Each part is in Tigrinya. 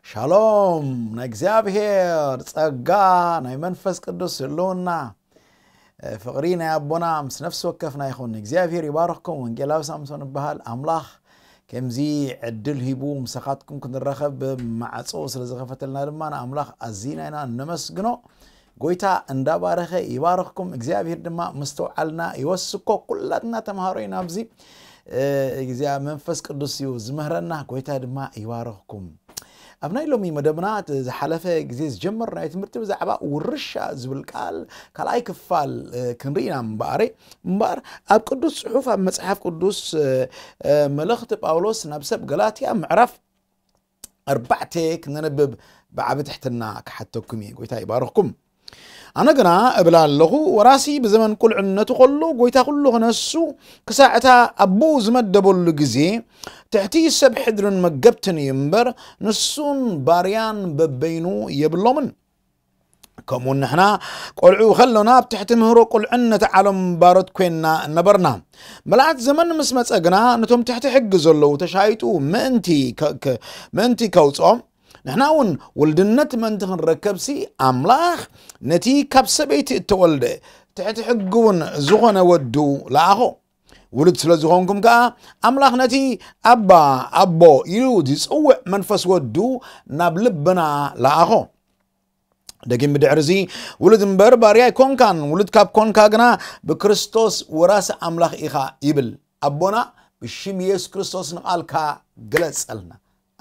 ሻሎም ናይ እግዚኣብሔር ጸጋ ናይ መንፈስ ቅዱስ ህልውና ፍቕሪ ናይ ኣቦና ምስ ነፍሲ ወከፍና ይኹን። እግዚኣብሔር ይባርኽኩም። ወንጌላዊ ሳምሶን እበሃል። ኣምላኽ ከምዚ ዕድል ሂቡ ምሳኻትኩም ክንረኸብ ማዕጾ ስለ ዝኸፈተልና ድማ ንኣምላኽ ኣዚና ኢና እነመስግኖ። ጎይታ እንዳባረኸ ይባርኽኩም። እግዚኣብሔር ድማ ምስትውዓልና ይወስኮ። ኩላትና ተምሃሮ ኢና ኣብዚ። እግዚኣብሔር መንፈስ ቅዱስ እዩ ዝምህረና። ጎይታ ድማ ይባርኽኩም። ኣብ ናይ ሎሚ መደብና እቲ ዝሓለፈ ግዜ ዝጀመርናዮ ትምህርቲ ብዛዕባ ውርሻ ዝብል ቃል ካልኣይ ክፋል ክንርኢ ኢና። እምበኣር እምበኣር ኣብ ቅዱስ ጽሑፍ ኣብ መጽሓፍ ቅዱስ መልእኽቲ ጳውሎስ ናብ ሰብ ገላትያ ምዕራፍ ኣርባዕተ ክነንብብ ብዓቢ ትሕትና ክሓተኩም እየ። ጎይታ ይባርኽኩም። ኣነ ግና እብል ኣለኹ፣ ወራሲ ብዘመን ቁልዕነቱ ከሎ ጎይታ ኩሉ ክነሱ ክሳዕ እታ ኣቦኡ ዝመደበሉ ግዜ ትሕቲ ሰብ ሕድርን መገብትን እዩ እምበር፣ ንሱን ባርያን በበይኑ የብሎምን። ከምኡ ንሕና ቆልዑ ከሎና ኣብ ትሕቲ ምህሮ ቁልዕነት ዓለም ባሮት ኮይንና ነበርና። መልኣት ዘመን ምስ መጸ ግና ነቶም ትሕቲ ሕጊ ዘለዉ ተሻይጡ ምእንቲ ከ- ከ- ምእንቲ ከውጽኦም ንሕና እውን ውልድነት ምእንቲ ክንረከብሲ ኣምላኽ ነቲ ካብ ሰበይቲ እተወልደ ትሕቲ ሕጊ እውን ዝኾነ ወዱ ለኣኾ። ውሉድ ስለ ዝኾንኩም ከኣ ኣምላኽ ነቲ ኣባ ኣቦ ኢሉ ዝጽውዕ መንፈስ ወዱ ናብ ልብና ለኣኾ። ደጊም ብድሕርዚ ውሉድ እምበር ባርያ ኣይኮንካን፣ ውሉድ ካብ ኮንካ ግና ብክርስቶስ ወራሲ ኣምላኽ ኢኻ ይብል። ኣቦና ብሽም የሱስ ክርስቶስ ንቓልካ ግለጸልና።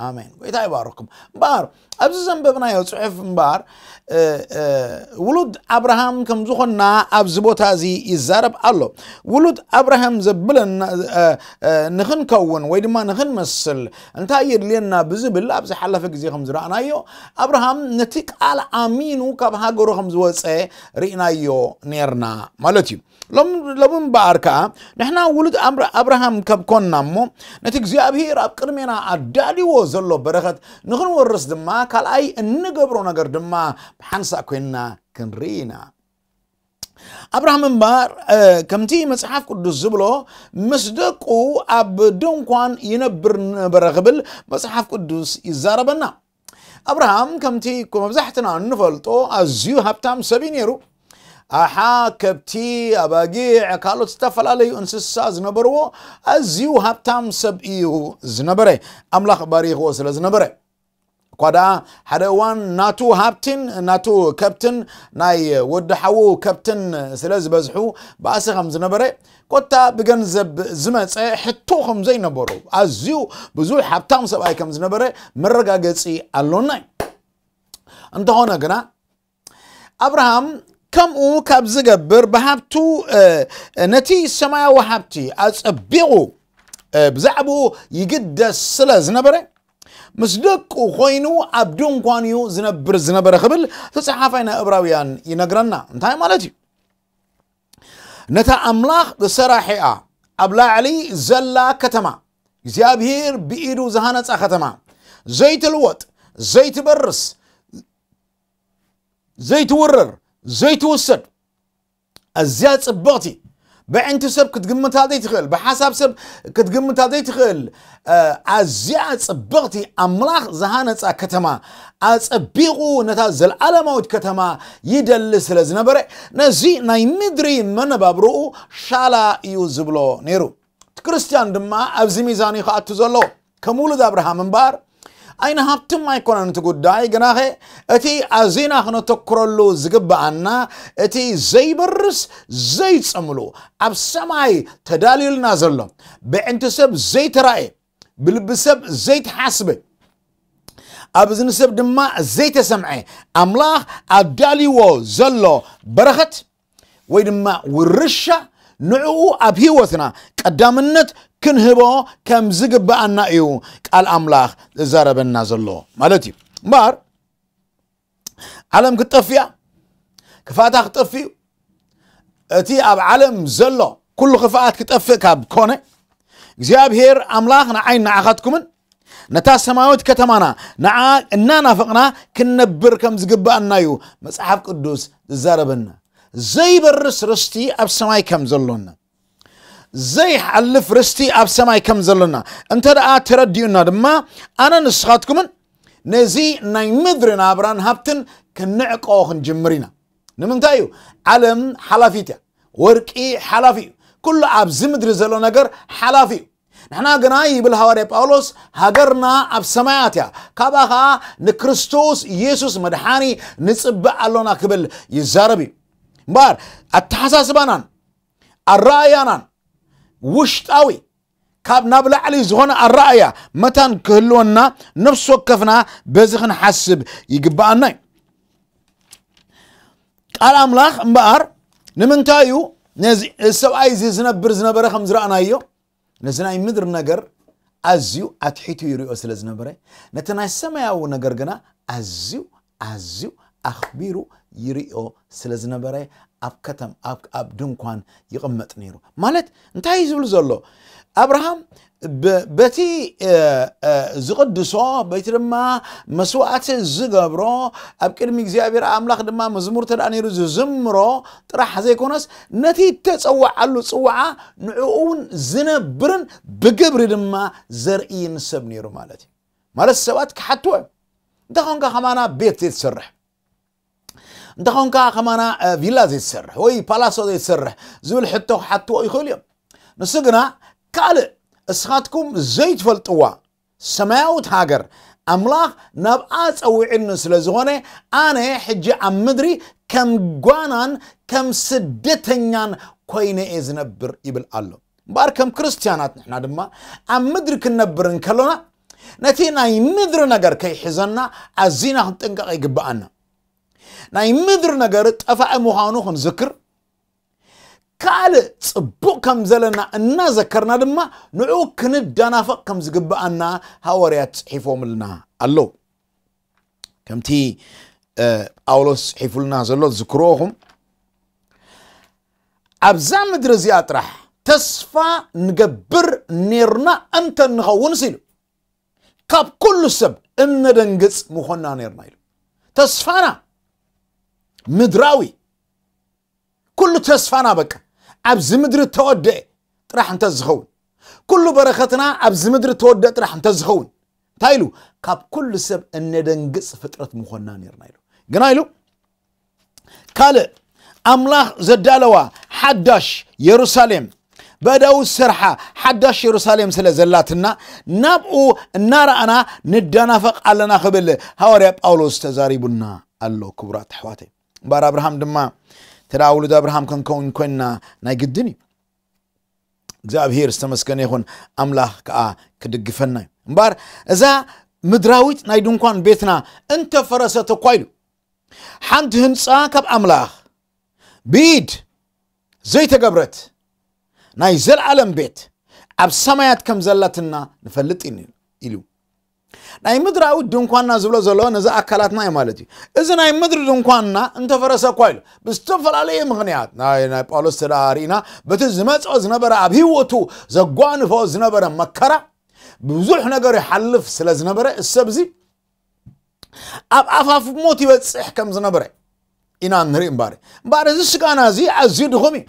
ኣሜን። ጎይታ ይባርኩም። እምበኣር ኣብዚ ዘንበብናዮ ጽሑፍ እምበኣር ውሉድ ኣብርሃም ከም ዝኾንና ኣብዚ ቦታ እዚ ይዛረብ ኣሎ። ውሉድ ኣብርሃም ዘብለና ንኽንከውን ወይ ድማ ንኽንመስል እንታይ የድልየና ብዝብል ኣብ ዝሓለፈ ግዜ ከም ዝረኣናዮ ኣብርሃም ነቲ ቃል ኣሚኑ ካብ ሃገሩ ከም ዝወፀ ርኢናዮ ነርና ማለት እዩ። ሎም- ሎም እምበኣር ከኣ ንሕና ውሉድ ኣምር- ኣብርሃም ከም ኮንና እሞ ነቲ እግዚኣብሔር ኣብ ቅድሜና ኣዳልዎ ዘሎ በረኸት ንኽንወርስ ድማ ካልኣይ እንገብሮ ነገር ድማ ብሓንሳእ ኮይንና ክንርኢ ኢና። ኣብርሃም እምበኣር ከምቲ መጽሓፍ ቅዱስ ዝብሎ ምስ ደቁ ኣብ ድንኳን ይነብር ነበረ ክብል መጽሓፍ ቅዱስ ይዛረበና። ኣብርሃም ከምቲ መብዛሕትና እንፈልጦ ኣዝዩ ሃብታም ሰብ እዩ ነይሩ። ኣሓ፣ ከብቲ፣ ኣባጊዕ፣ ካልኦት ዝተፈላለዩ እንስሳ ዝነበርዎ ኣዝዩ ሃብታም ሰብ እዩ ዝነበረ። ኣምላኽ ባሪኽዎ ስለ ዝነበረ እኳ ደኣ ሓደ እዋን ናቱ ሃብትን ናቱ ከብትን ናይ ወዲ ሓዉ ከብትን ስለ ዝበዝሑ ባእሲ ከም ዝነበረ ኮታ ብገንዘብ ዝመፀ ሕቶ ከም ዘይነበሩ ኣዝዩ ብዙሕ ሃብታም ሰብኣይ ከም ዝነበረ መረጋገፂ ኣሎና እዩ። እንተኾነ ግና ኣብርሃም ከምኡ ካብ ዝገብር ብሃብቱ ነቲ ሰማያዊ ሃብቲ ኣጸቢቑ ብዛዕባኡ ይግደስ ስለ ዝነበረ ምስ ደቁ ኮይኑ ኣብ ድንኳን እዩ ዝነብር ዝነበረ ክብል ተጻሓፋይ ናይ እብራውያን ይነግረና። እንታይ ማለት እዩ? ነታ ኣምላኽ ዝሰራሒኣ ኣብ ላዕሊ ዘላ ከተማ እግዚኣብሔር ብኢዱ ዝሃነጻ ከተማ ዘይትልወጥ ዘይትበርስ ዘይትውረር ዘይትውሰድ ኣዝያ ጽብቕቲ ብዕንቲ ሰብ ክትግምታ ዘይትኽእል ብሓሳብ ሰብ ክትግምታ ዘይትኽእል ኣዝያ ጽብቕቲ ኣምላኽ ዝሃነጻ ከተማ ኣጸቢቑ ነታ ዘለዓለማዊት ከተማ ይደሊ ስለ ዝነበረ ነዚ ናይ ምድሪ መነባብርኡ ሻላ እዩ ዝብሎ ነይሩ። እቲ ክርስትያን ድማ ኣብዚ ሚዛን እዩ ክኣቱ ዘለዎ። ከም ውሉድ ኣብርሃም እምበኣር ኣይንሃብትም ኣይኮነን እቲ ጉዳይ ግናኸ እቲ ኣዚና ክነተኩረሉ ዝግብኣና እቲ ዘይበርስ ዘይጸምሉ ኣብ ሰማይ ተዳልዩልና ዘሎ ብዕንቲ ሰብ ዘይተራእየ ብልቢ ሰብ ዘይተሓስበ ኣብ እዝኒ ሰብ ድማ ዘይተሰምዐ ኣምላኽ ኣዳልይዎ ዘሎ በረኸት ወይ ድማ ውርሻ ንዕኡ ኣብ ህይወትና ቀዳምነት ክንህቦ ከም ዝግብኣና እዩ ቃል ኣምላኽ ዝዛረበና ዘሎ ማለት እዩ። እምበኣር ዓለም ክትጠፍእ እያ፣ ክፋእታ ክጠፍእ እዩ። እቲ ኣብ ዓለም ዘሎ ኩሉ ክፍኣት ክጠፍእ ካብ ኮነ እግዚኣብሔር ኣምላኽ ንዓይ ንዓኻትኩምን ነታ ሰማያዊት ከተማና ንዓ እናናፈቕና ክንነብር ከም ዝግብኣና እዩ መጽሓፍ ቅዱስ ዝዛረበና። ዘይበርስ ርስቲ ኣብ ሰማይ ከም ዘሎና ዘይሓልፍ ርስቲ ኣብ ሰማይ ከም ዘሎና እንተ ደኣ ተረዲኡና ድማ ኣነ ንስኻትኩምን ነዚ ናይ ምድሪ ናብራን ሃብትን ክንዕቆ ክንጅምር ኢና። ንምንታይ እዩ? ዓለም ሓላፊት እያ። ወርቂ ሓላፊ እዩ። ኩሉ ኣብዚ ምድሪ ዘሎ ነገር ሓላፊ እዩ። ንሕና ግና፣ ይብል ሃዋርያ ጳውሎስ፣ ሃገርና ኣብ ሰማያት እያ፣ ካብኣ ኸዓ ንክርስቶስ ኢየሱስ መድሓኒ ንጽበ ኣሎና ክብል ይዛረብ እዩ። እምበኣር ኣተሓሳስባናን ኣረኣእያናን ውሽጣዊ ካብ ናብ ላዕሊ ዝኾነ ኣረኣእያ መታን ክህልወና ነፍሲ ወከፍና በዚ ክንሓስብ ይግብኣና እዩ። ቃል ኣምላኽ እምበኣር ንምንታይ እዩ ነዚ ሰብኣይ እዚ ዝነብር ዝነበረ ከም ዝረኣናዮ ነዚ ናይ ምድሪ ነገር ኣዝዩ ኣትሒቱ ይሪኦ ስለ ዝነበረ፣ ነቲ ናይ ሰማያዊ ነገር ግና ኣዝዩ ኣዝዩ ኣኽቢሩ ይሪኦ ስለ ዝነበረ፣ ኣብ ከተም ኣብ ኣብ ድንኳን ይቕመጥ ነይሩ። ማለት እንታይ እዩ ዝብል ዘሎ? ኣብርሃም በቲ ዝቕድሶ፣ በቲ ድማ መስዋእቲ ዝገብሮ፣ ኣብ ቅድሚ እግዚኣብሔር ኣምላኽ ድማ መዝሙር ተዳ ነይሩ ዝዝምሮ ጥራሕ ዘይኮነስ፣ ነቲ ተጸዋዓሉ ጽዋዓ ንዕኡ እውን ዝነብርን ብግብሪ ድማ ዘርእይን ሰብ ነይሩ ማለት እዩ። ማለት ሰባት ክሓትዎ እዮም። እንተኾንካ ከማና ቤት ዘይትሰርሕ፣ እንተኾንካ ከማና ቪላ ዘይትሰርሕ ወይ ፓላሶ ዘይትሰርሕ ዝብል ሕቶ ክሓትዎ ይኽእሉ እዮም። ንሱ ግና ካልእ እስኻትኩም ዘይትፈልጥዋ ሰማያዊት ሃገር ኣምላኽ ናብኣ ጸዊዕኒ ስለ ዝኾነ፣ ኣነ ሕጂ ኣብ ምድሪ ከም ጓናን ከም ስደተኛን ኮይነ እየ ዝነብር ይብል ኣሎ። እምበኣር ከም ክርስትያናት ንሕና ድማ ኣብ ምድሪ ክንነብር እንከሎና ነቲ ናይ ምድሪ ነገር ከይሕዘና ኣዚና ክንጥንቀቕ ይግብኣና። ናይ ምድሪ ነገር ጠፋኢ ምዃኑ ክንዝክር፣ ካልእ ጽቡቕ ከም ዘለና እናዘከርና ድማ ንዕኡ ክንዳናፈቕ ከም ዝግብኣና ሃዋርያት ጽሒፎምልና ኣለዉ። ከምቲ ጳውሎስ ጽሒፉልና ዘሎ ትዝክርዎ ኢኹም። ኣብዛ ምድሪ እዚኣ ጥራሕ ተስፋ ንገብር ኔርና እንተ ንኸውን ኢሉ፣ ካብ ኩሉ ሰብ እነደንግጽ ምኾንና ኔርና ኢሉ። ተስፋና ምድራዊ፣ ኩሉ ተስፋና በቃ ኣብዚ ምድሪ ተወደአ ጥራሕ እንተ ዝኸውን፣ ኩሉ በረኸትና ኣብዚ ምድሪ ተወደአ ጥራሕ እንተ ዝኸውን፣ እንታይ ኢሉ? ካብ ኩሉ ሰብ እነደንግጽ ፍጥረት ምኾንና ኔርና ኢሉ። ግና ኢሉ ካልእ ኣምላኽ ዘዳለዋ ሓዳሽ የሩሳሌም፣ በእዳኡ ዝሰርሓ ሓዳሽ የሩሳሌም ስለ ዘላትና ናብኡ እናረኣና ንዳናፈቕ ኣለና ክብል ሃዋርያ ጳውሎስ ተዛሪቡና ኣሎ። ክቡራት ኣሕዋተይ፣ እምበኣር ኣብርሃም ድማ ተዳ ውሉድ ኣብርሃም ክንከውን ኮይንና ናይ ግድን እዩ። እግዚኣብሔር ዝተመስገነ ይኹን፣ ኣምላኽ ከዓ ክድግፈና እዩ። እምበኣር እዛ ምድራዊት ናይ ድንኳን ቤትና እንተፈረሰት እኳ ኢሉ፣ ሓንቲ ህንፃ ካብ ኣምላኽ ብኢድ ዘይተገብረት ናይ ዘለዓለም ቤት ኣብ ሰማያት ከም ዘላትና ንፈልጥ ኢና ኢሉ። ናይ ምድራዊ ድንኳንና ዝብሎ ዘሎ ነዚ ኣካላትና እዩ ማለት እዩ። እዚ ናይ ምድሪ ድንኳንና እንተፈረሰ እኳ ኢሉ፣ ብዝተፈላለየ ምኽንያት ናይ ናይ ጳውሎስ ተዳ ርኢና፣ በቲ ዝመፅኦ ዝነበረ ኣብ ህይወቱ ዘጓንፎ ዝነበረ መከራ ብዙሕ ነገር ይሓልፍ ስለ ዝነበረ፣ እሰብ እዚ ኣብ ኣፋፍ ሞት ይበጽሕ ከም ዝነበረ ኢና ንርኢ። እምበኣር እምበኣር እዚ ስጋና እዚ ኣዝዩ ድኹም እዩ።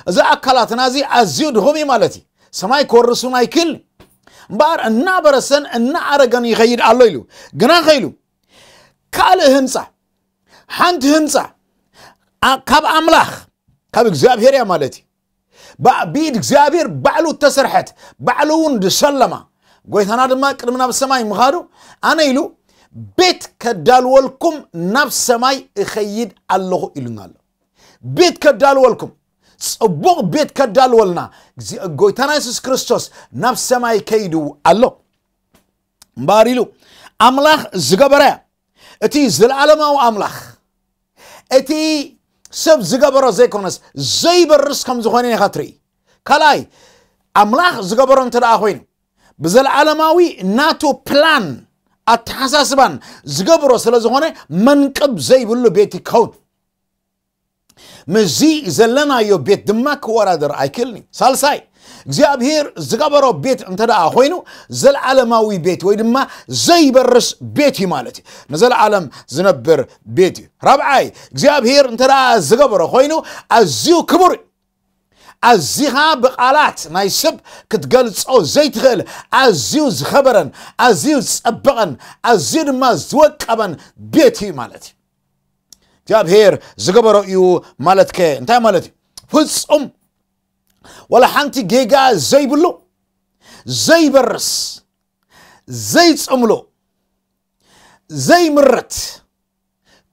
እዚ ኣካላትና እዚ ኣዝዩ ድኹም እዩ ማለት እዩ። ሰማይ ክወርስ እውን ኣይክእልን። እምበኣር እናበረሰን እናኣረገን ይኸይድ ኣሎ ኢሉ። ግና ከኢሉ ካልእ ህንፃ፣ ሓንቲ ህንፃ ኣ- ካብ ኣምላኽ፣ ካብ እግዚኣብሔር እያ ማለት እዩ። ባ- ብኢድ እግዚኣብሔር ባዕሉ እተሰርሐት፣ ባዕሉ እውን ዝሰለማ፣ ጎይታና ድማ ቅድሚ ናብ ሰማይ ምኻዱ፣ ኣነ ኢሉ ቤት ከዳልወልኩም ናብ ሰማይ እኸይድ ኣለኹ ኢሉና ኣሎ። ቤት ከዳልወልኩም፣ ጽቡቕ ቤት ከዳልወልና፣ እግዚ- ጎይታና የሱስ ክርስቶስ ናብ ሰማይ ከይዱ ኣሎ። እምበኣር ኢሉ ኣምላኽ ዝገበረ፣ እቲ ዘለዓለማዊ ኣምላኽ፣ እቲ ሰብ ዝገበሮ ዘይኮነስ ዘይበርስ ከም ዝኾነ ኢኻ ትርኢ። ካልኣይ፣ ኣምላኽ ዝገበሮ እንተ ደኣ ኮይኑ፣ ብዘለዓለማዊ ናቱ ፕላን ኣተሓሳስባን ዝገብሮ ስለ ዝኾነ፣ መንቅብ ዘይብሉ ቤት ይከውን። ምስዚ ዘለናዮ ቤት ድማ ክወዳደር ኣይክእልን እዩ። ሳልሳይ፣ እግዚኣብሔር ዝገበሮ ቤት እንተ ደኣ ኮይኑ፣ ዘለዓለማዊ ቤት ወይ ድማ ዘይበርስ ቤት እዩ ማለት እዩ። ንዘለዓለም ዝነብር ቤት እዩ። ራብዓይ፣ እግዚኣብሔር እንተ ደኣ ዝገበሮ ኮይኑ፣ ኣዝዩ ክቡር እዩ። ኣዚኻ ብቓላት ናይ ሰብ ክትገልጾ ዘይትኽእል ኣዝዩ ዝኸበረን ኣዝዩ ዝጸበቐን ኣዝዩ ድማ ዝወቀበን ቤት እዩ ማለት እዩ። እግዚኣብሔር ዝገበሮ እዩ ማለትከ እንታይ ማለት እዩ? ፍጹም፣ ወላ ሓንቲ ጌጋ ዘይብሉ፣ ዘይበርስ፣ ዘይጽምሉ፣ ዘይምርት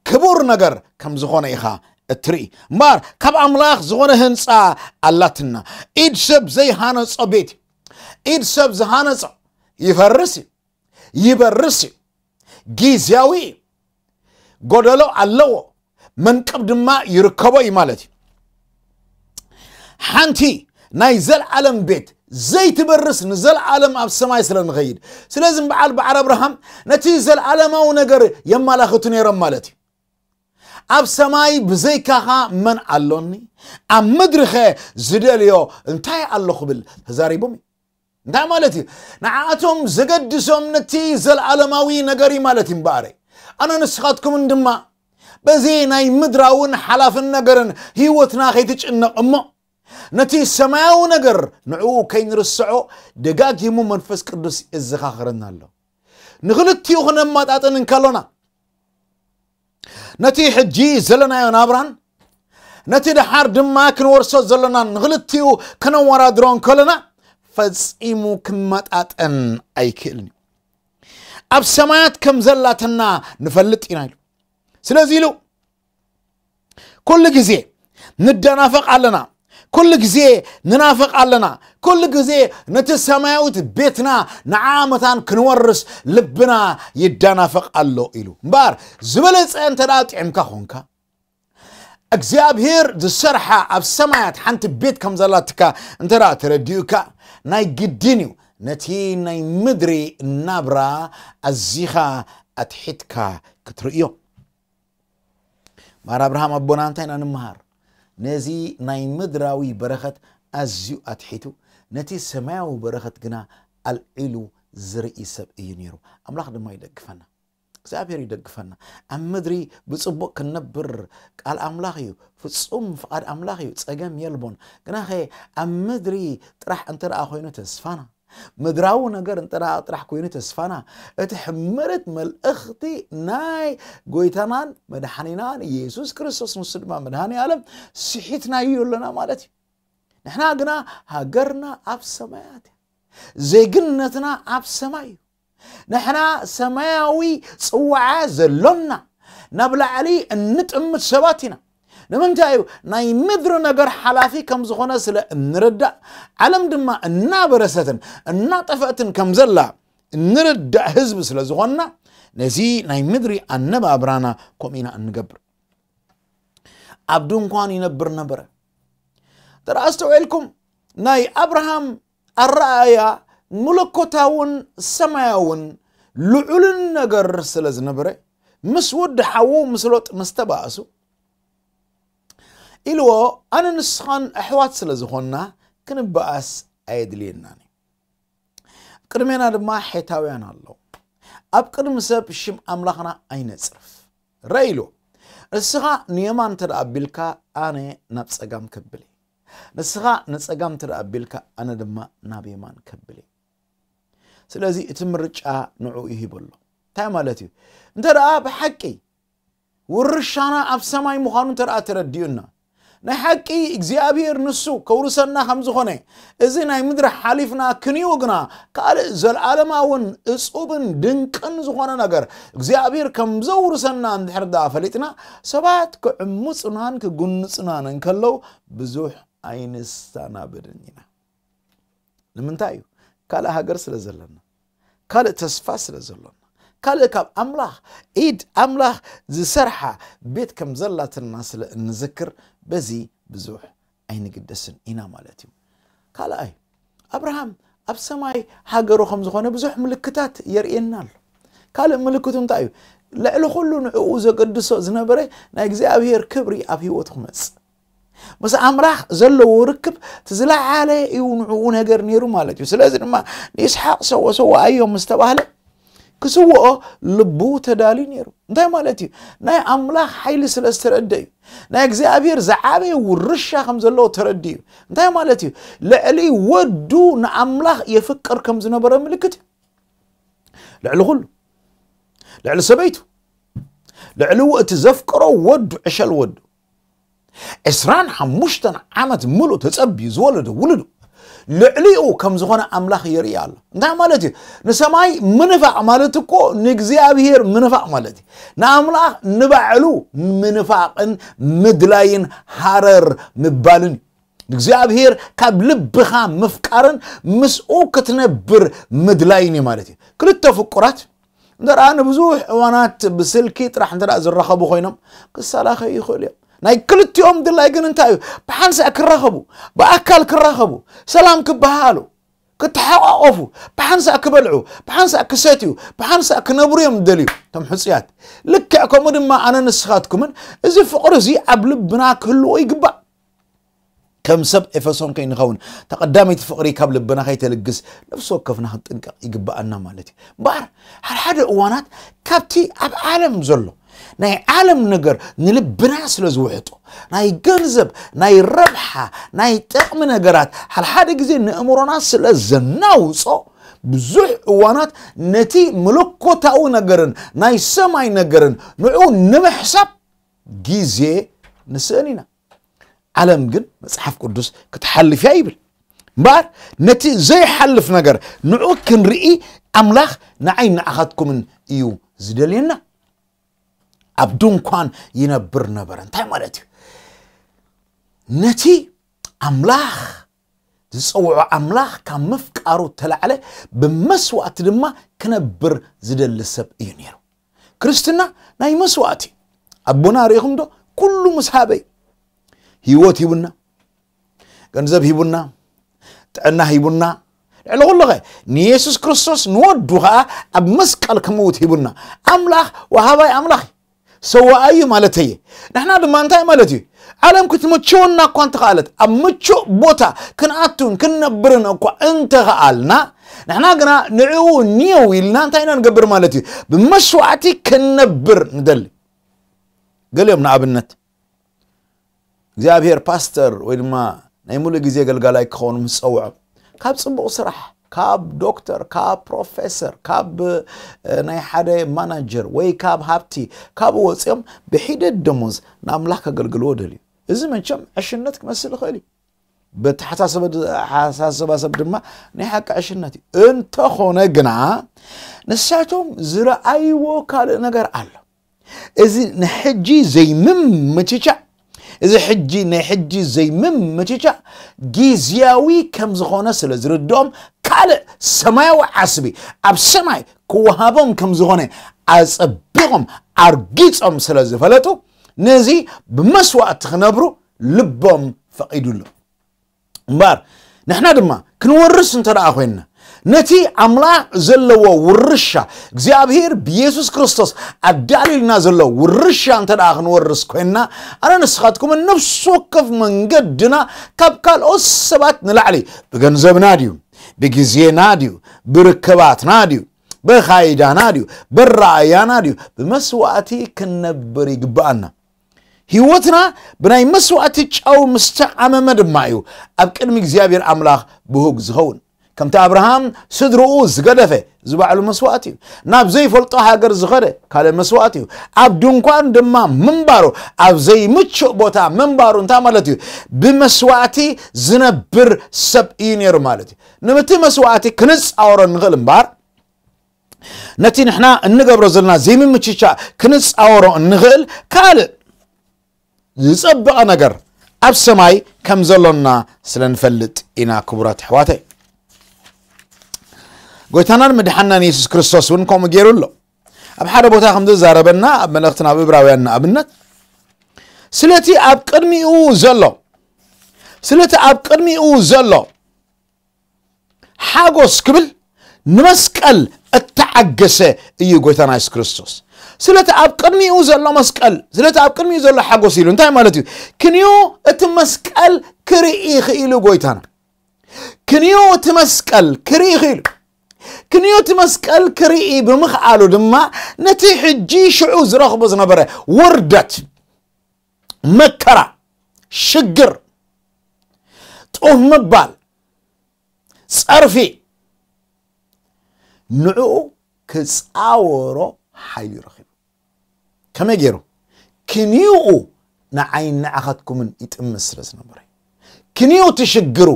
ክቡር ነገር ከም ዝኾነ ኢኻ እትርኢ። እምበኣር ካብ ኣምላኽ ዝኾነ ህንፃ ኣላትና። ኢድ ሰብ ዘይሃነጾ ቤት፣ ኢድ ሰብ ዝሃነጾ ይፈርስ እዩ፣ ይበርስ እዩ፣ ግዝያዊ እዩ፣ ጎደሎ ኣለዎ፣ መንቅብ ድማ ይርከቦ እዩ ማለት እዩ። ሓንቲ ናይ ዘልዓለም ቤት ዘይትበርስ፣ ንዘልዓለም ኣብ ሰማይ ስለ ንኸይድ። ስለዚ በዓል በዓል ኣብርሃም ነቲ ዘልዓለማዊ ነገር የማላኽቱ ነይሮም ማለት እዩ። ኣብ ሰማይ ብዘይካኻ መን ኣሎኒ? ኣብ ምድሪኸ ዝደልዮ እንታይ ኣሎ ክብል ተዛሪቦም እዩ። እንታይ ማለት እዩ? ንዓኣቶም ዘገድሶም ነቲ ዘልዓለማዊ ነገር እዩ ማለት እዩ። እምበኣረ ኣነ ንስኻትኩምን ድማ በዚ ናይ ምድራውን ሓላፍን ነገርን ህይወትና ከይትጭነቕ እሞ ነቲ ሰማያዊ ነገር ንዕኡ ከይንርስዖ ደጋጊሙ መንፈስ ቅዱስ የዘኻኽረና ኣሎ። ንኽልቲኡ ክነመጣጥን እንከሎና ነቲ ሕጂ ዘለናዮ ናብራን ነቲ ደሓር ድማ ክንወርሶ ዘሎናን ንኽልቲኡ ከነወዳድሮ እንከሎና ፈጺሙ ክመጣጠን ኣይክእልን እዩ። ኣብ ሰማያት ከም ዘላትና ንፈልጥ ኢና ኢሉ። ስለዚ ኢሉ ኩሉ ግዜ ንደናፈቕ ኣለና፣ ኩሉ ግዜ ንናፍቕ ኣለና፣ ኩሉ ግዜ ነቲ ሰማያዊት ቤትና ንዓ መታን ክንወርስ ልብና ይደናፈቕ ኣሎ ኢሉ። እምበኣር ዝበለጸ እንተ ደኣ ጥዕምካ ኾንካ እግዚኣብሔር ዝሰርሓ ኣብ ሰማያት ሓንቲ ቤት ከም ዘላትካ እንተ ደኣ ተረዲኡካ ናይ ግድን እዩ ነቲ ናይ ምድሪ ናብራ ኣዚኻ ኣትሒትካ ክትርእዮ። ማር ኣብርሃም ኣቦና እንታይ ኢና ንምሃር? ነዚ ናይ ምድራዊ በረኸት ኣዝዩ ኣትሒቱ ነቲ ሰማያዊ በረኸት ግና ኣልዒሉ ዝርኢ ሰብ እዩ ነይሩ። ኣምላኽ ድማ ይደግፈና። እግዚኣብሔር ይደግፈና። ኣብ ምድሪ ብጽቡቕ ክንነብር ቃል ኣምላኽ እዩ፣ ፍጹም ፍቓድ ኣምላኽ እዩ፣ ጸገም የልቦን። ግናኸ ኣብ ምድሪ ጥራሕ እንተ ደኣ ኮይኑ ተስፋና ምድራዊ ነገር እንተ ደኣ ጥራሕ ኮይኑ ተስፋና እቲ ሕምርት መልእኽቲ ናይ ጎይታናን መድሓኒናን ኢየሱስ ክርስቶስ ንሱ ድማ መድሃኒ ዓለም ስሒትናዮ ኣለና ማለት እዩ። ንሕና ግና ሃገርና ኣብ ሰማያት እያ፣ ዜግነትና ኣብ ሰማይ እዩ። ንሕና ሰማያዊ ጽዋዓ ዘሎና ናብ ላዕሊ እንጥምት ሰባት ኢና። ንምንታይ እዩ? ናይ ምድሪ ነገር ሓላፊ ከም ዝኾነ ስለ እንርዳእ ዓለም ድማ እናበረሰትን እናጠፈእትን ከም ዘላ እንርዳእ ህዝቢ ስለ ዝኾንና ነዚ ናይ ምድሪ ኣነባብራና ከምኡ ኢና እንገብር። ኣብ ድንኳን ይነብር ነበረ። ተራ ኣስተውዒልኩም ናይ ኣብርሃም ኣረኣእያ መለኮታውን ሰማያውን ልዑልን ነገር ስለ ዝነበረ ምስ ወዲ ሓዉ ምስ ሎጥ ምስ ተባእሱ ኢልዎ ኣነ ንስኻን ኣሕዋት ስለ ዝኾንና ክንበኣስ ኣየድልየናን እዩ። ቅድሜና ድማ ሔታውያን ኣለዉ። ኣብ ቅድሚ ሰብ ሽም ኣምላኽና ኣይነጽርፍ። ረኢሉ ንስኻ ንየማን እንተ ደኣ ኣቢልካ ኣነ ናብ ጸጋም ከብል እየ። ንስኻ ንጸጋም እንተ ደኣ ኣቢልካ ኣነ ድማ ናብ የማን ከብል እየ። ስለዚ እቲ ምርጫ ንዕኡ ይሂበሎ። እንታይ ማለት እዩ? እንተ ደኣ ብሓቂ ውርሻና ኣብ ሰማይ ምዃኑ እንተ ደኣ ተረዲኡና ናይ ሓቂ እግዚኣብሔር ንሱ ከውርሰና ከም ዝኾነ እዚ ናይ ምድሪ ሓሊፍና ክንዩ ግና ካልእ ዘለዓለማውን እጹብን ድንቅን ዝኾነ ነገር እግዚኣብሔር ከም ዘውርሰና እንድሕር ደኣ ፈሊጥና ሰባት ክዕምጹናን ክጉንጹናን እንከለዉ ብዙሕ ኣይንሰናበድን ኢና። ንምንታይ እዩ? ካልእ ሃገር ስለ ዘለና፣ ካልእ ተስፋ ስለ ዘሎና፣ ካልእ ካብ ኣምላኽ ኢድ ኣምላኽ ዝሰርሓ ቤት ከም ዘላትና ስለ እንዝክር በዚ ብዙሕ ኣይንግደስን ኢና ማለት እዩ። ካልኣይ ኣብርሃም ኣብ ሰማይ ሃገሩ ከም ዝኾነ ብዙሕ ምልክታት የርእየና ኣሎ። ካልእ ምልክቱ እንታይ እዩ? ልዕሊ ኩሉ ንዕኡ ዘገድሶ ዝነበረ ናይ እግዚኣብሔር ክብሪ ኣብ ህይወቱ ክመጽእ ምስ ኣምላኽ ዘለዎ ርክብ እቲ ዝለዓለ እዩ ንዕኡ ነገር ነይሩ ማለት እዩ። ስለዚ ድማ ንይስሓቅ ሰወሰወኣዮ ምስ ተባህለ ክስውኦ ልቡ ተዳልዩ ነይሩ። እንታይ ማለት እዩ? ናይ ኣምላኽ ሓይሊ ስለ ዝተረደ እዩ። ናይ እግዚኣብሔር ዝዓበየ ውርሻ ከም ዘለዎ ተረዲ እዩ። እንታይ ማለት እዩ? ልዕሊ ወዱ ንኣምላኽ የፍቅር ከም ዝነበረ ምልክት እዩ። ልዕሊ ኩሉ፣ ልዕሊ ሰበይቱ፣ ልዕሊ እቲ ዘፍቅሮ ወዱ፣ ዕሸል ወዱ፣ ዕስራን ሓሙሽተን ዓመት ምሉእ ተጸብዩ ዝወለዶ ውሉዱ ልዕሊኡ ከም ዝኾነ ኣምላኽ የርኢ ኣሎ። እንታይ ማለት እዩ? ንሰማይ ምንፋቕ ማለት እኮ ንእግዚኣብሔር ምንፋቕ ማለት እዩ። ንኣምላኽ ንባዕሉ ምንፋቕን ምድላይን ሃረር ምባልን እዩ። ንእግዚኣብሔር ካብ ልብኻ ምፍቃርን ምስኡ ክትነብር ምድላይን እዩ ማለት እዩ። ክልተ ፍቁራት እንተ ደኣ ንብዙሕ እዋናት ብስልኪ ጥራሕ እንተ ደኣ ዝራኸቡ ኮይኖም ክሰላኸዩ ይኽእሉ እዮም። ናይ ክልቲኦም ድላይ ግን እንታይ እዩ? ብሓንሳእ ክራኸቡ፣ ብኣካል ክራኸቡ፣ ሰላም ክበሃሉ፣ ክተሓቋቆፉ፣ ብሓንሳእ ክበልዑ፣ ብሓንሳእ ክሰትዩ፣ ብሓንሳእ ክነብሩ እዮም ዝደልዩ እቶም ሕጹያት። ልክዕ ከምኡ ድማ ኣነ ንስኻትኩምን እዚ ፍቕሪ እዚ ኣብ ልብና ክህልዎ ይግባእ። ከም ሰብ ኤፌሶን ከይንኸውን፣ ተቐዳመይቲ ፍቕሪ ካብ ልብና ከይተልግስ ነፍሲ ወከፍና ክንጥንቀቕ ይግብኣና ማለት እዩ። እምበኣር፣ ሓደ ሓደ እዋናት ካብቲ ኣብ ዓለም ዘሎ ናይ ዓለም ነገር ንልብና ስለ ዝውሕጦ፣ ናይ ገንዘብ፣ ናይ ረብሓ፣ ናይ ጥቕሚ ነገራት ሓደ ሓደ ግዜ ንእምሮና ስለ ዘናውጾ፣ ብዙሕ እዋናት ነቲ መለኮታዊ ነገርን ናይ ሰማይ ነገርን ንዑ ንምሕሳብ ግዜ ንስእን ኢና። ዓለም ግን መጽሓፍ ቅዱስ ክትሓልፍ እያ ይብል። እምበኣር ነቲ ዘይሓልፍ ነገር ንዑ ክንርኢ ኣምላኽ ንዓይ ንዓኻትኩምን እዩ ዝደልየና። ኣብ ድንኳን ይነብር ነበረ። እንታይ ማለት እዩ? ነቲ ኣምላኽ ዝጸውዖ ኣምላኽ ካብ ምፍቃሩ ተላዕለ ብመስዋእቲ ድማ ክነብር ዝደሊ ሰብ እዩ ነይሩ። ክርስትና ናይ መስዋእቲ። ኣቦና ርኢኹም ዶ? ኩሉ ምስ ሃበይ ህይወት ሂቡና፣ ገንዘብ ሂቡና፣ ጥዕና ሂቡና፣ ልዕሊ ኩሉ ኸ ንየሱስ ክርስቶስ ንወዱ ኸዓ ኣብ መስቀል ክመውት ሂቡና። ኣምላኽ ወሃባይ ኣምላኽ እዩ፣ ሰዋኣይ እዩ ማለት እየ። ንሕና ድማ እንታይ ማለት እዩ? ዓለም ክትምችወና እኳ እንተኸኣለት፣ ኣብ ምቹእ ቦታ ክንኣቱን ክንነብርን እኳ እንተኸኣልና፣ ንሕና ግና ንዕኡ ኒየው ኢልና እንታይ ኢና ንገብር ማለት እዩ? ብመስዋዕቲ ክንነብር ንደሊ። ገሊኦም ንኣብነት እግዚኣብሔር ፓስተር ወይ ድማ ናይ ሙሉእ ግዜ ኣገልጋላይ ክኸውን ምስ ጸውዖም፣ ካብ ጽቡቕ ስራሕ፣ ካብ ዶክተር፣ ካብ ፕሮፌሰር፣ ካብ እ፣ ናይ ሓደ ማናጀር ወይ ካብ ሃብቲ፣ ካብኡ ወጺኦም ብሒደት ደሞዝ ንኣምላኽ ከገልግልዎ ደልዩ። እዚ መቸም ዕሽነት ክመስል ይኽእል እዩ። በተሓሳሰበ ኣሓሳስባ ሰብ ድማ ናይ ሓቂ ዕሽነት እዩ። እንተኾነ ግና ንሳቶም ዝረኣይዎ ካልእ ነገር ኣሎ። እዚ ንሕጂ ዘይምምችቻእ፣ እዚ ሕጂ ናይ ሕጂ ዘይምምችቻእ ግዝያዊ ከም ዝኾነ ስለ ዝርድኦም፣ ካልእ ሰማያዊ ዓስቢ ኣብ ሰማይ ክወሃቦም ከም ዝኾነ ኣጸቢቖም ኣርጊጾም ስለ ዝፈለጡ፣ ነዚ ብመስዋእቲ ክነብሩ ልቦም ፈቒዱሎም። እምበኣር ንሕና ድማ ክንወርስ እንተ ደኣ ኮይንና፣ ነቲ ኣምላኽ ዘለዎ ውርሻ፣ እግዚኣብሔር ብየሱስ ክርስቶስ ኣዳልዩልና ዘሎ ውርሻ እንተ ደኣ ክንወርስ ኮይንና፣ ኣነ ንስኻትኩምን ነፍሲ ወከፍ መንገድና ካብ ካልኦት ሰባት ንላዕሊ፣ ብገንዘብና ድዩ፣ ብግዜና ድዩ፣ ብርከባትና ድዩ፣ ብኻይዳና ድዩ፣ ብረኣያና ድዩ፣ ብመስዋእቲ ክንነብር ይግብኣና። ህይወትና ብናይ መስዋእቲ ጨው ምስ ተዓመመ ድማ እዩ ኣብ ቅድሚ እግዚኣብሔር ኣምላኽ ብሁግ ዝኸውን። ከምቲ ኣብርሃም ስድርኡ ዝገደፈ፣ እዚ ባዕሉ መስዋእቲ እዩ። ናብ ዘይፈልጦ ሃገር ዝኸደ ካልእ መስዋእቲ እዩ። ኣብ ድንኳን ድማ ምንባሩ፣ ኣብ ዘይምቹእ ቦታ ምንባሩ እንታይ ማለት እዩ? ብመስዋእቲ ዝነብር ሰብ እዩ ነይሩ ማለት እዩ። ንምቲ መስዋእቲ ክንጻወሮ ንኽእል እምበኣር፣ ነቲ ንሕና እንገብሮ ዘለና ዘይምምችቻ ክንጻወሮ እንኽእል ካልእ ዝጸበቐ ነገር ኣብ ሰማይ ከም ዘሎና ስለ ንፈልጥ ኢና። ክቡራት ኣሕዋተይ፣ ጎይታናን መድሓናን የሱስ ክርስቶስ እውን ከምኡ ገይሩ ኣሎ። ኣብ ሓደ ቦታ ከም ዝዛረበና ኣብ መልእኽቲ ናብ እብራውያን ንኣብነት ስለቲ ኣብ ቅድሚኡ ዘሎ ስለቲ ኣብ ቅድሚኡ ዘሎ ሓጎስ ክብል ንመስቀል እተዓገሰ እዩ ጎይታና የሱስ ክርስቶስ። ስለቲ ኣብ ቅድሚኡ ዘሎ መስቀል፣ ስለቲ ኣብ ቅድሚኡ ዘሎ ሓጎስ ኢሉ እንታይ ማለት እዩ? ክንዮ እቲ መስቀል ክርኢ ክኢሉ ጎይታና። ክንዮ እቲ መስቀል ክርኢ ክኢሉ። ክንዮ እቲ መስቀል ክርኢ ብምኽኣሉ ድማ ነቲ ሕጂ ሽዑ ዝረኽቦ ዝነበረ ውርደት፣ መከራ፣ ሽግር፣ ጡፍ ምባል፣ ጸርፊ፣ ንዕኡ ክጻወሮ ሓይሊ ረኺቡ። ከመይ ገይሩ? ክንዮኡ ንዓይን ንዓኻትኩምን ይጥምት ስለ ዝነበረ፣ ክንዮ እቲ ሽግሩ፣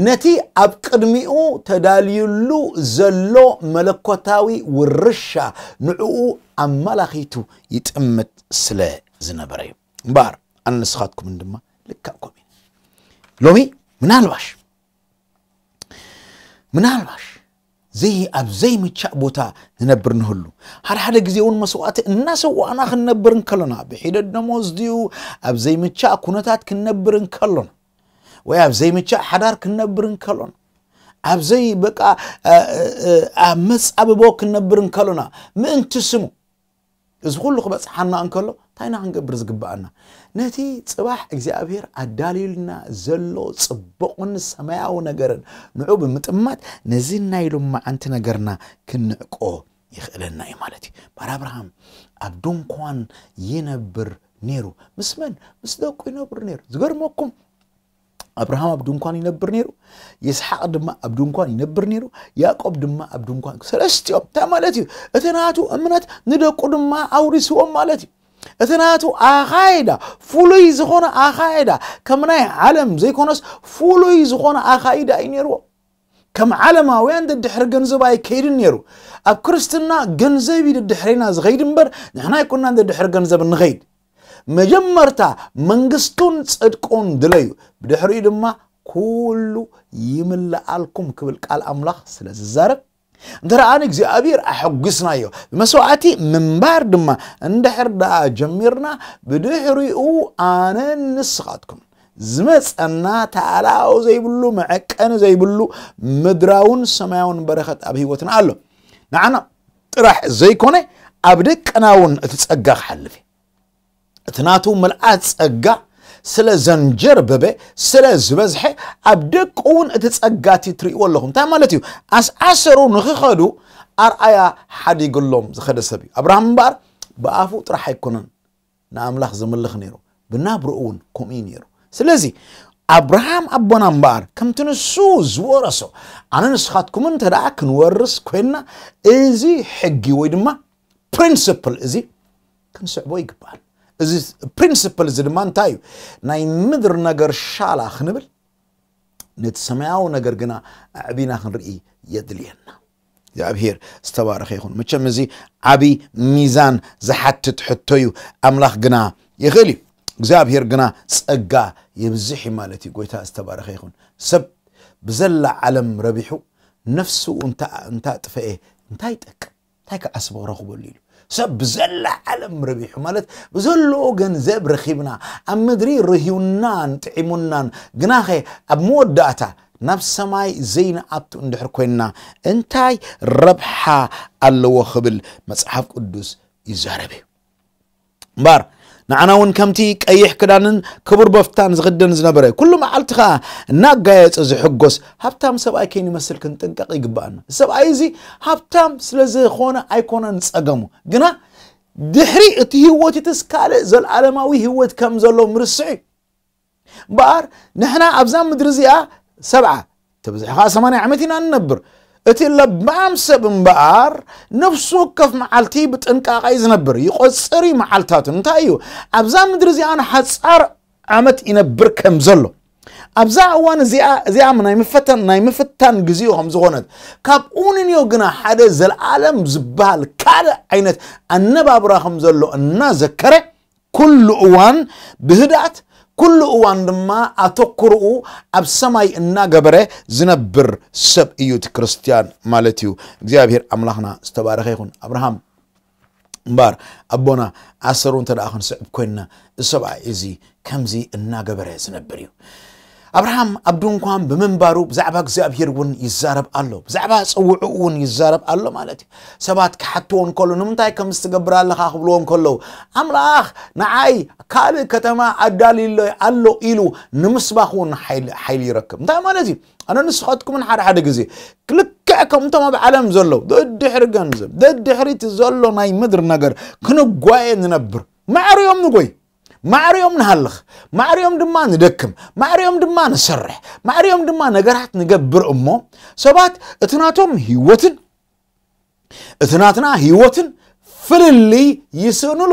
ነቲ ኣብ ቅድሚኡ ተዳልዩሉ ዘሎ መለኮታዊ ውርሻ ንዕኡ ኣመላኺቱ ይጥምት ስለ ዝነበረ እዩ። እምበኣር ኣነ ንስኻትኩምን ድማ ልክዕ ከምኡ ኢና። ሎሚ ምናልባሽ ምናልባሽ ዘይ ኣብ ዘይምቻእ ቦታ ንነብር ንህሉ፣ ሓደ ሓደ ግዜ እውን መስዋእቲ እናሰዋእና ክንነብር እንከሎና፣ ብሒደት ደሞዝ ድዩ ኣብ ዘይምቻእ ኩነታት ክንነብር እንከሎና፣ ወይ ኣብ ዘይምቻእ ሓዳር ክንነብር እንከሎና፣ ኣብ ዘይ በቃ ኣብ መጻብቦ ክንነብር እንከሎና፣ ምእንቲ ስሙ እዚ ኩሉ ክበጽሓና እንከሎ እንታይ ኢና ክንገብር ዝግብኣና? ነቲ ጽባሕ እግዚኣብሔር ኣዳልዩልና ዘሎ ጽቡቕን ሰማያዊ ነገርን ንዑ ብምጥማት ነዚ ናይ ሎማዓንቲ ነገርና ክንዕቆ ይኽእለና እዩ ማለት እዩ። ባር ኣብርሃም ኣብ ድንኳን ይነብር ነይሩ። ምስ መን? ምስ ደቁ ይነብር ነይሩ። ዝገርመኩም ኣብርሃም ኣብ ድንኳን ይነብር ነይሩ፣ ይስሓቅ ድማ ኣብ ድንኳን ይነብር ነይሩ፣ ያዕቆብ ድማ ኣብ ድንኳን። ሰለስቲኦም እንታይ ማለት እዩ? እቲ ናቱ እምነት ንደቁ ድማ ኣውሪስዎም ማለት እዩ። እቲ ናቱ ኣኻይዳ፣ ፍሉይ ዝኾነ ኣኻይዳ፣ ከም ናይ ዓለም ዘይኮነስ ፍሉይ ዝኾነ ኣኻይዳ እዩ ነይርዎ። ከም ዓለማውያን ደድሕሪ ገንዘብ ኣይከይድን ነይሩ። ኣብ ክርስትና ገንዘብ እዩ ደድሕሬና ዝኸይድ እምበር ንሕና ኣይኮናን ደድሕሪ ገንዘብ እንኸይድ። መጀመርታ መንግስቱን ጽድቁን ድለዩ፣ ብድሕሪኡ ድማ ኩሉ ይምልኣልኩም ክብል ቃል ኣምላኽ ስለ ዝዛረብ፣ እንተ ደኣ ንእግዚኣብሔር ኣሐጒስናዮ፣ ብመስዋዕቲ ምንባር ድማ እንድሕር ደኣ ጀሚርና፣ ብድሕሪኡ ኣነን ንስኻትኩም ዝመጸና ተኣላኦ ዘይብሉ፣ መዐቀኒ ዘይብሉ ምድራውን ሰማያውን በረኸት ኣብ ህይወትና ኣሎ። ንዓና ጥራሕ ዘይኮነ ኣብ ደቅና እውን እቲ ጸጋ ክሓልፍ እዩ። እቲ ናቱ ምልኣት ጸጋ ስለ ዘንጀርበበ፣ ስለ ዝበዝሐ፣ ኣብ ደቁ እውን እቲ ጸጋ እቲ ትርእይዎ ኣለኹም። እንታይ ማለት እዩ? ኣስዓሰሩ ንኽኸዱ ኣርኣያ ሓዲግሎም ዝኸደ ሰብ እዩ። ኣብርሃም እምበኣር ብኣፉ ጥራሕ ኣይኮነን ንኣምላኽ ዘምልኽ ነይሩ፣ ብናብርኡ እውን ከምኡ እዩ ነይሩ። ስለዚ ኣብርሃም ኣቦና እምበኣር ከምቲ ንሱ ዝወረሶ ኣነ ንስኻትኩምን እንተ ደኣ ክንወርስ ኮይንና፣ እዚ ሕጊ ወይ ድማ ፕሪንስፕል እዚ ክንስዕቦ ይግባል። እዚ ፕሪንስፕል እዚ ድማ እንታይ እዩ? ናይ ምድር ነገር ሻላ ክንብል፣ ነቲ ሰማያዊ ነገር ግና ኣዕቢና ክንርኢ የድልየና። እግዚኣብሔር ዝተባረኸ ይኹን። መቸም እዚ ዓቢ ሚዛን ዝሓትት ሕቶ እዩ። ኣምላኽ ግና ይኽእል እዩ። እግዚኣብሔር ግና ጸጋ የብዝሕ እዩ ማለት እዩ። ጎይታ ዝተባረኸ ይኹን። ሰብ ብዘላ ዓለም ረቢሑ ነፍሱ እንታ እንታ ጥፈኤ እንታይ ይጠቅም? እንታይ ከዓስቦ ክረኽበሉ ኢሉ? ሰብ ብዘላ ዓለም ረቢሑ ማለት ብዘለዎ ገንዘብ ረኺብና፣ ኣብ ምድሪ ርህዩናን ጥዒሙናን፣ ግናኸ ኣብ መወዳእታ ናብ ሰማይ ዘይንኣቱ እንድሕር ኮይንና እንታይ ረብሓ ኣለዎ ክብል መጽሓፍ ቅዱስ ይዛረብ እዩ። እምበኣር ንዓና እውን ከምቲ ቀይሕ ክዳንን ክቡር በፍታን ዝኽደን ዝነበረ፣ ኩሉ መዓልቲ ኸኣ እናጋየጸ ዝሕጎስ ሃብታም ሰብኣይ ከይንመስል ክንጥንቀቕ ይግብኣና። ሰብኣይ እዚ ሃብታም ስለ ዝኾነ ኣይኮነን ጸገሙ፣ ግና ድሕሪ እቲ ህይወት እትስ ካልእ ዘልኣለማዊ ህይወት ከም ዘሎ ምርስዕ እዩ። እምበኣር ንሕና ኣብዛ ምድሪ እዚኣ ሰብዓ፣ ተብዝሒ ኸዓ ሰማንያ ዓመት ኢና ንነብር። እቲ ለባም ሰብ እምበኣር ነፍሱ ወከፍ መዓልቲ ብጥንቃቐ እዩ ዝነብር፣ ይቖጽር እዩ መዓልታቱ። እንታይ እዩ? ኣብዛ ምድሪ እዚኣ ንሓጻር ዓመት ይነብር ከም ዘሎ፣ ኣብዛ እዋን እዚኣ፣ እዚኣ ናይ ምፈተን፣ ናይ ምፍታን ግዜኡ ከም ዝኾነት፣ ካብኡ ንንዮ ግና ሓደ ዘለኣለም ዝበሃል ካልእ ዓይነት ኣነባብራ ከም ዘሎ እናዘከረ፣ ኩሉ እዋን ብህድኣት፣ ኩሉ እዋን ድማ ኣተኩርኡ ኣብ ሰማይ እናገበረ ዝነብር ሰብ እዩ እቲ ክርስትያን ማለት እዩ። እግዚኣብሔር ኣምላኽና ዝተባረኸ ይኹን። ኣብርሃም እምበኣር ኣቦና ኣሰሩ እንተ ደኣ ክንስዕብ ኮይንና፣ እዚ ሰብኣይ እዚ ከምዚ እናገበረ ዝነብር እዩ። ኣብርሃም ኣብ ድንኳን ብምንባሩ ብዛዕባ እግዚኣብሔር እውን ይዛረብ ኣሎ፣ ብዛዕባ ጽውዕኡ እውን ይዛረብ ኣሎ ማለት እዩ። ሰባት ክሓትዎ እንከሎ፣ "ንምንታይ ከምዚ ትገብር ኣለኻ?" ክብልዎ እንከለዉ፣ "ኣምላኽ ንዓይ ካልእ ከተማ ኣዳልዩለይ ኣሎ" ኢሉ ንምስባኽ እውን ሓይሊ፣ ሓይሊ ይረክብ። እንታይ ማለት እዩ? ኣነ ንስኻትኩምን ሓደ ሓደ ግዜ ልክዕ ልክዕ ከምቶም ኣብ ዓለም ዘለዉ ደድሕሪ ገንዘብ፣ ደድሕሪ እቲ ዘሎ ናይ ምድሪ ነገር ክንጓየ ንነብር። ማዕሪኦም ንጎይ፣ ማዕሪኦም ንሃልኽ፣ ማዕሪኦም ድማ ንደክም፣ ማዕሪኦም ድማ ንሰርሕ፣ ማዕሪኦም ድማ ነገራት ንገብር። እሞ ሰባት እቲ ናቶም ህይወትን እቲ ናትና ህይወትን ፍልልይ ይስእኑሉ።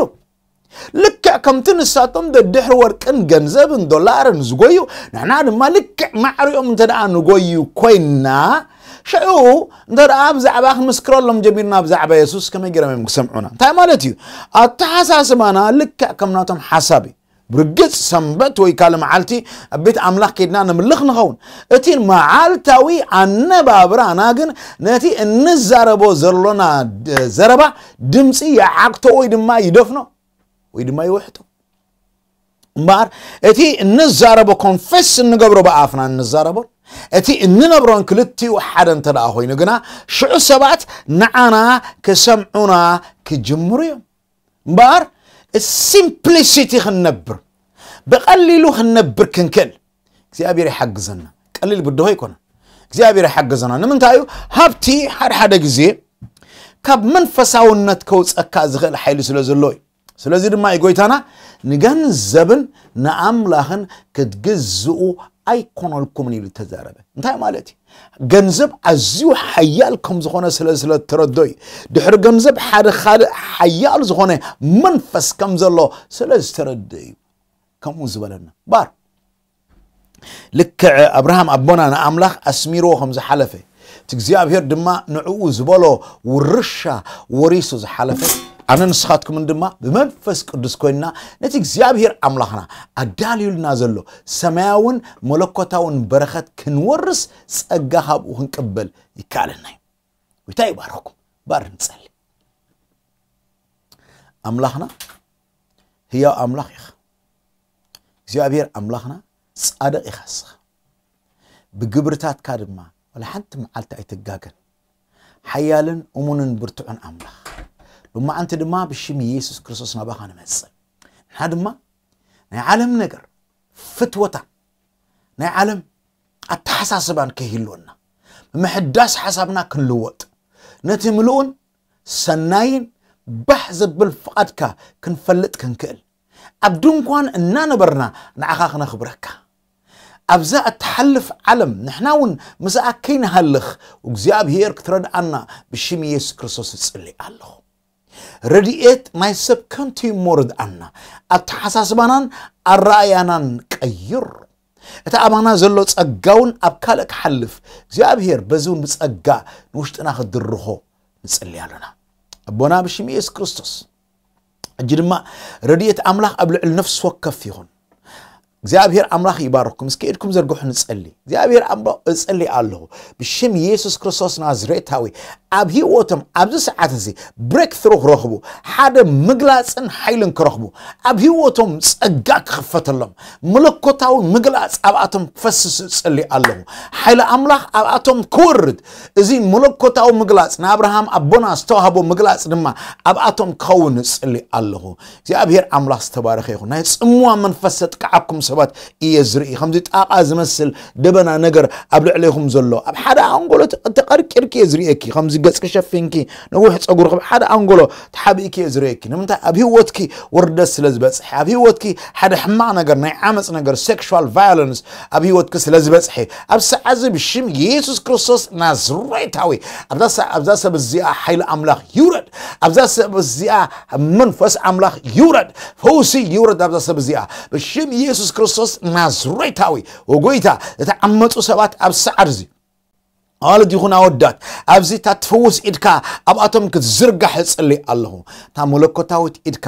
ልክዕ ከምቲ ንሳቶም ደድሕሪ ወርቅን ገንዘብን ዶላርን ዝጎዩ፣ ንሕና ድማ ልክዕ ማዕሪኦም እንተ ደኣ ንጎዩ ኮይና፣ ሽዑ እንተ ደኣ ብዛዕባ ክንምስክረሎም ጀሚርና፣ ብዛዕባ የሱስ ከመይ ገይሮም እዮም ክሰምዑና? እንታይ ማለት እዩ? ኣተሓሳስባና ልክዕ ከም ናቶም ሓሳብ እዩ። ብርግጽ ሰንበት ወይ ካልእ መዓልቲ ኣብ ቤት ኣምላኽ ከይድና ንምልኽ ንኸውን። እቲ መዓልታዊ ኣነባብራና ግን ነቲ እንዛረቦ ዘሎና ድ-፣ ዘረባ ድምጺ ይዓግቶ ወይ ድማ ይደፍኖ ወይ ድማ ይውሕጦ። እምበኣር እቲ እንዛረቦ፣ ኮንፌስ እንገብሮ ብኣፍና እንዛረቦን እቲ እንነብሮን ክልቲኡ ሓደ እንተ ደኣ ኮይኑ ግና ሽዑ ሰባት ንዓና ክሰምዑና ክጅምሩ እዮም። እምበኣር ሲምፕሊሲቲ ክንነብር፣ ብቐሊሉ ክንነብር ክንክእል እግዚኣብሔር ይሓግዘና። ቀሊል ብድሆ ኣይኮነን። እግዚኣብሔር ይሓግዘና። ንምንታይ እዩ? ሃብቲ ሓደ ሓደ ግዜ ካብ መንፈሳውነት ከውፀካ ዝኽእል ሓይሊ ስለ ዘሎ እዩ። ስለዚ ድማ እዩ ጎይታና ንገንዘብን ንኣምላኽን ክትግዝኡ ኣይኮነልኩምን ኢሉ ተዛረበ። እንታይ ማለት እዩ? ገንዘብ ኣዝዩ ሓያል ከም ዝኾነ ስለ፣ ስለ ተረዶ እዩ። ድሕሪ ገንዘብ ሓደ ካልእ ሓያል ዝኾነ መንፈስ ከም ዘሎ ስለ ዝተረደ እዩ ከምኡ ዝበለና። ባር ልክዕ ኣብርሃም ኣቦና ንኣምላኽ ኣስሚርዎ ከም ዝሓለፈ፣ እቲ እግዚኣብሔር ድማ ንዕኡ ዝበሎ ውርሻ ወሪሱ ዝሓለፈ፣ ኣነ ንስኻትኩምን ድማ ብመንፈስ ቅዱስ ኮይንና ነቲ እግዚኣብሔር ኣምላኽና ኣዳልዩልና ዘሎ ሰማያውን መለኮታውን በረኸት ክንወርስ ጸጋ ካብኡ ክንቅበል ይከኣለና እዩ። ጎይታ ይባርኽኩም። ባር ንጸሊ። ኣምላኽና ህያው ኣምላኽ ኢኻ። እግዚኣብሔር ኣምላኽና ጻድቕ ኢኻ እስኻ። ብግብርታትካ ድማ ዋላ ሓንቲ መዓልቲ ኣይትጋገን። ሓያልን እሙንን ብርቱዕን ኣምላኽ። ሎማዓንቲ ድማ ብሽም ኢየሱስ ክርስቶስ ናባኻ ንመጽእ። ንሕና ድማ ናይ ዓለም ነገር፣ ፍትወታ፣ ናይ ዓለም ኣተሓሳስባን ከይህልወና፣ ምምሕዳስ ሓሳብና ክንልወጥ፣ ነቲ ምሉእን ሰናይን ባህ ዘብል ፍቓድካ ክንፈልጥ ክንክእል፣ ኣብ ድንኳን እናነበርና ንዓኻ ክነኽብረካ፣ ኣብዛ እትሓልፍ ዓለም ንሕና እውን ምስኣ ከይንሃልኽ እግዚኣብሔር ክትረድኣና ብሽም ኢየሱስ ክርስቶስ እጽሊ ኣለኹ። ረድኤት ናይ ሰብ ከንቱ እሞ ርድኣና፣ ኣተሓሳስባናን ኣረኣእያናን ቀይር። እቲ ኣባና ዘሎ ጸጋ እውን ኣብ ካልእ ክሓልፍ እግዚኣብሔር በዚ እውን ብጸጋ ንውሽጥና ክድርኾ ንጽሊ ኣለና። ኣቦና ብሽም ኢየሱስ ክርስቶስ ሕጂ ድማ ረድኤት ኣምላኽ ኣብ ልዕሊ ነፍሲ ወከፍ ይኹን። እግዚኣብሔር ኣምላኽ ይባርኩም። እስኪ ኢድኩም ዘርግሑ ንጸሊ። እግዚኣብሔር ኣምላኽ እጸሊ ኣለኹ ብሽም ኢየሱስ ክርስቶስ ናዝሬታዊ ኣብ ህይወቶም ኣብዚ ሰዓት እዚ ብሬክ ትሩ ክረኽቡ፣ ሓደ ምግላጽን ሓይልን ክረኽቡ፣ ኣብ ህይወቶም ጸጋ ክኽፈተሎም፣ መለኮታዊ ምግላጽ ኣብኣቶም ክፈስስ እጸሊ ኣለኹ። ሓይሊ ኣምላኽ ኣብኣቶም ክወርድ፣ እዚ መለኮታዊ ምግላጽ ንኣብርሃም ኣቦና ዝተዋህቦ ምግላጽ ድማ ኣብኣቶም ክኸውን እጸሊ ኣለኹ። እግዚኣብሔር ኣምላኽ ዝተባረኸ ይኹን። ናይ ጽምዋ መንፈስ ዘጥቅዓኩም ሰባት እየ ዝርኢ። ከምዚ ጣቓ ዝመስል ደበና ነገር ኣብ ልዕሌኹም ዘሎ፣ ኣብ ሓደ ኣንጎሎ ተ-፣ ተቐርቂርኪ እየ ዝርእየኪ። ከምዚ ገጽኪ ሸፊንኪ፣ ነዊሕ ጸጉርኺ ኣብ ሓደ ኣንጎሎ ተሓቢእኪ እየ ዝርእየኪ። ንምንታይ? ኣብ ህይወትኪ ውርደት ስለ ዝበጽሐ፣ ኣብ ህይወትኪ ሓደ ሕማቕ ነገር፣ ናይ ዓመጽ ነገር፣ ሴክሹዋል ቫዮለንስ ኣብ ህይወትኪ ስለ ዝበጽሐ፣ ኣብ ሰዓት እዚ ብሽም ኢየሱስ ክርስቶስ ናዝሬታዊ፣ ኣብዛ ሰ-፣ ኣብዛ ሰብ እዚኣ ሓይሊ ኣምላኽ ይውረድ። ኣብዛ ሰብ እዚኣ መንፈስ ኣምላኽ ይውረድ። ፈውሲ ይውረድ ኣብዛ ሰብ እዚኣ ብሽም ኢየሱስ ክርስቶስ ናዝሬታዊ። ወጎይታ፣ ዝተዓመጹ ሰባት ኣብ ሰዓት እዚ፣ ኣዋልድ ይኹን ኣወዳት፣ ኣብዚ እታ ትፍውስ ኢድካ ኣብኣቶም ክትዝርጋሕ እጽሊ ኣለኹ። እታ መለኮታዊት ኢድካ፣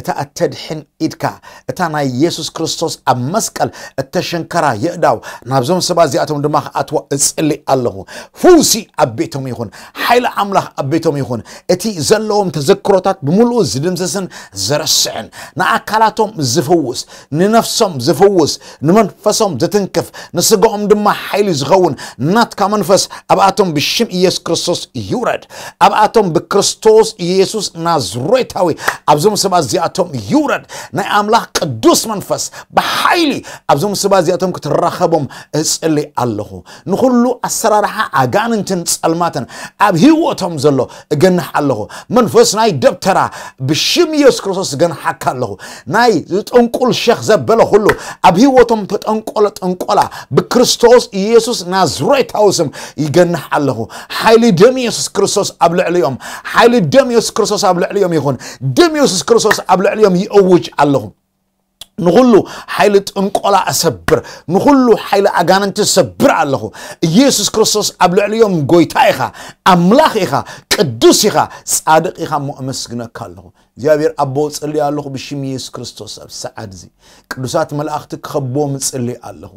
እታ እተድሕን ኢድካ፣ እታ ናይ ኢየሱስ ክርስቶስ ኣብ መስቀል እተሸንከራ የእዳው፣ ናብዞም ሰባት እዚኣቶም ድማ ክኣትዋ እጽሊ ኣለኹ። ፍውሲ ኣብ ቤቶም ይኹን፣ ሓይሊ ኣምላኽ ኣብ ቤቶም ይኹን። እቲ ዘለዎም ተዘክሮታት ብምሉኡ ዝድምስስን ዘረስዕን፣ ንኣካላቶም ዝፍውስ፣ ንነፍሶም ዝፍውስ፣ ንመንፈሶም ዝትንክፍ፣ ንስጋኦም ድማ ሓይሊ ዝኸውን ናትካ መንፈስ ኣብኣቶም ብሽም ኢየሱስ ክርስቶስ ይውረድ። ኣብኣቶም ብክርስቶስ ኢየሱስ ናዝሬታዊ ኣብዞም ሰባት እዚኣቶም ይውረድ። ናይ ኣምላኽ ቅዱስ መንፈስ ብሓይሊ ኣብዞም ሰባት እዚኣቶም ክትራኸቦም እጽሊ ኣለኹ። ንኹሉ ኣሰራርሓ ኣጋንንትን ጸልማትን ኣብ ህይወቶም ዘሎ እገንሕ ኣለኹ። መንፈስ ናይ ደብተራ ብሽም ኢየሱስ ክርስቶስ እገንሓካ ኣለኹ። ናይ ዝጥንቁል ሸኽ ዘበለ ኩሉ ኣብ ህይወቶም ተጠንቆለ ጥንቆላ ብክርስቶስ ኢየሱስ ናዝሬታዊ ስም ይገንሕ ኣለኹ። ሓይሊ ደም ኢየሱስ ክርስቶስ ኣብ ልዕሊኦም፣ ሓይሊ ደም ኢየሱስ ክርስቶስ ኣብ ልዕሊኦም ይኹን። ደም ኢየሱስ ክርስቶስ ኣብ ልዕሊኦም ይእውጅ ኣለኹ። ንኹሉ ሓይሊ ጥንቆላ እሰብር፣ ንኹሉ ሓይሊ ኣጋንንቲ እሰብር ኣለኹ። ኢየሱስ ክርስቶስ ኣብ ልዕሊኦም ጎይታ ኢኻ፣ ኣምላኽ ኢኻ፣ ቅዱስ ኢኻ፣ ጻድቕ ኢኻ እሞ እመስግነካ ኣለኹ። እግዚኣብሔር ኣቦ ጽሊ ኣለኹ ብሽም ኢየሱስ ክርስቶስ ኣብ ሰዓት እዚ ቅዱሳት መላእኽቲ ክኸብዎም ጽሊ ኣለኹ።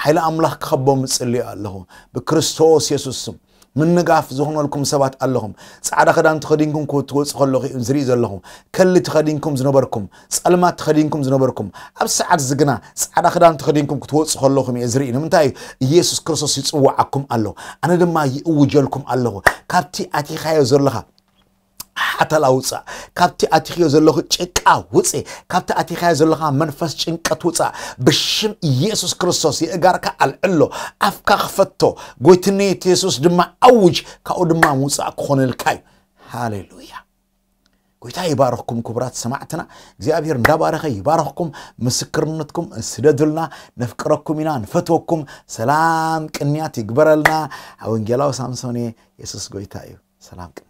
ሓይሊ ኣምላኽ ክኸብዎም ጽሊ ኣለኹ ብክርስቶስ የሱስ ስም። ምንጋፍ ዝኾነልኩም ሰባት ኣለኹም። ጻዕዳ ክዳን ተኸዲንኩም ክትወጹ ከለኹ እዩ ዝርኢ ዘለኹ። ከሊ ተኸዲንኩም ዝነበርኩም፣ ጸልማት ተኸዲንኩም ዝነበርኩም፣ ኣብ ሰዓት እዚ ግና ጻዕዳ ክዳን ተኸዲንኩም ክትወጹ ከለኹም እየ ዝርኢ። ንምንታይ? ኢየሱስ ክርስቶስ ይጽውዓኩም ኣሎ። ኣነ ድማ ይእውጀልኩም ኣለኹ። ካብቲ ኣቲኻዮ ዘለኻ ሓተላ ውጻእ። ካብቲ ኣቲኽዮ ዘለኹ ጭቃ ውጽእ። ካብቲ ኣቲኻዮ ዘለኻ መንፈስ ጭንቀት ውጻእ። ብሽም ኢየሱስ ክርስቶስ የእጋርካ ኣልዕሎ። ኣፍካ ክፈቶ። ጎይትነት የሱስ ድማ ኣውጅ። ካብኡ ድማ ምውጻእ ክኾነልካ እዩ። ሃሌሉያ። ጎይታ ይባርኽኩም ክቡራት ሰማዕትና። እግዚኣብሔር እንዳባረኸ ይባርኽኩም። ምስክርነትኩም ስደዱልና። ነፍቅረኩም ኢና፣ ንፈትወኩም። ሰላም ቅንያት ይግበረልና። ወንጌላዊ ሳምሶን እየ። የሱስ ጎይታ እዩ። ሰላም ቅንያት።